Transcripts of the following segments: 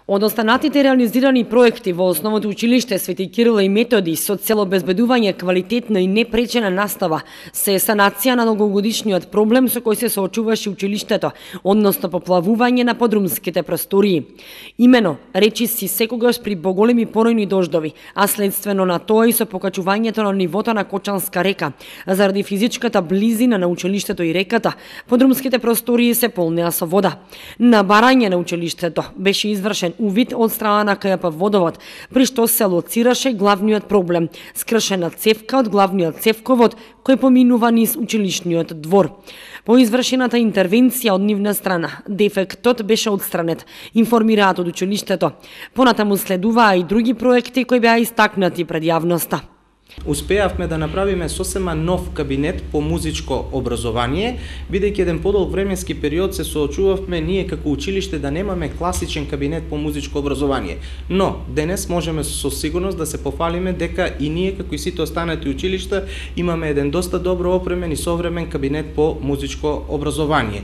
Од останатите реализирани проекти во Основното училиште Свети Кирил и Методи со цел обезбедување квалитетна и непречена настава се санација на многогодишниот проблем со кој се соочуваше училиштето, односно поплавување на подрумските простории. Имено, речиси секогаш при поголеми поројни дождови, а следствено на тоа и со покачувањето на нивото на Кочанска река, заради физичката близина на училиштето и реката, подрумските простории се полнеа со вода. На барање на училиштето беше извршен увид од страна на КЈП Водовод, при што се лоцираше главниот проблем – скршена цевка од главниот цевковод кој поминува низ училишниот двор. По извршената интервенција од нивна страна, дефектот беше отстранет, информираат од училиштето. Понатаму следуваа и други проекти кои беа истакнати пред јавноста. Успеавме да направиме сосема нов кабинет по музичко образование, бидејќи еден подолг временски период се соочувавме ние како училиште да немаме класичен кабинет по музичко образование. Но денес можеме со сигурност да се пофалиме дека и ние како и сите останати училишта имаме еден доста добро опремен и современ кабинет по музичко образование.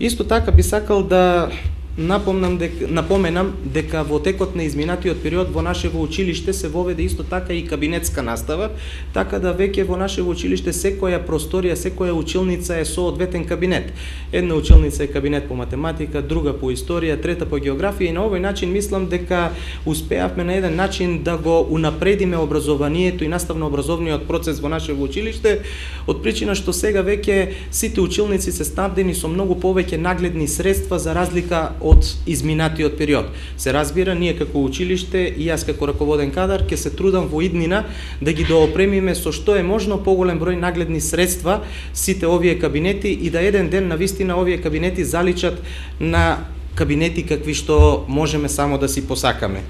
Исто така би сакал да напоменам дека во текот на изминатиот период во нашево училиште се воведе исто така и кабинетска настава, така да веќе во нашево училиште секоја просторија, секоја училница е со одветен кабинет. Една училница е кабинет по математика, друга по историја, трета по географија и на овој начин мислам дека успеавме на еден начин да го унапредиме образованието и наставно-образовниот процес во нашево училиште, од причина што сега веќе сите училници се снабдени со многу повеќе нагледни средства за разлика од изминатиот период. Се разбира, ние како училиште и јас како раководен кадар ќе се трудам во иднина да ги доопремиме со што е можно поголем број нагледни средства сите овие кабинети и да еден ден навистина овие кабинети заличат на кабинети какви што можеме само да си посакаме.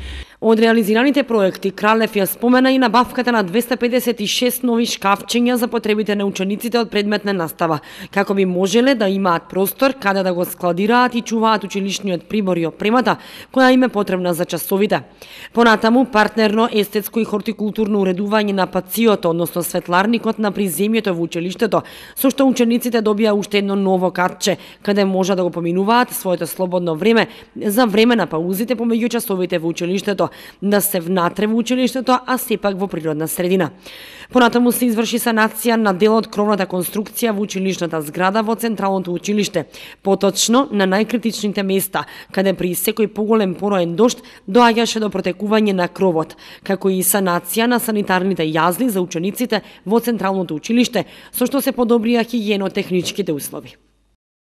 Од реализираните проекти, Кралев ја спомена и набавката на 256 нови шкафчиња за потребите на учениците од предметна настава, како би можеле да имаат простор каде да го складираат и чуваат училишниот прибор и опремата, која им е потребна за часовите. Понатаму, партнерно естетско и хортикултурно уредување на пацијото, односно светларникот на приземјето во училиштето, со што учениците добија уште едно ново катче, каде може да го поминуваат своето слободно време за време на паузите помеѓу часовите во училиштето, да се внатре во училиштето, а сепак во природна средина. Понатаму се изврши санација на дел од кровната конструкција во училишната зграда во Централното училиште, поточно на најкритичните места, каде при секој поголем пороен дожд доаѓаше до протекување на кровот, како и санација на санитарните јазли за учениците во Централното училиште, со што се подобрија хигиенотехничките услови.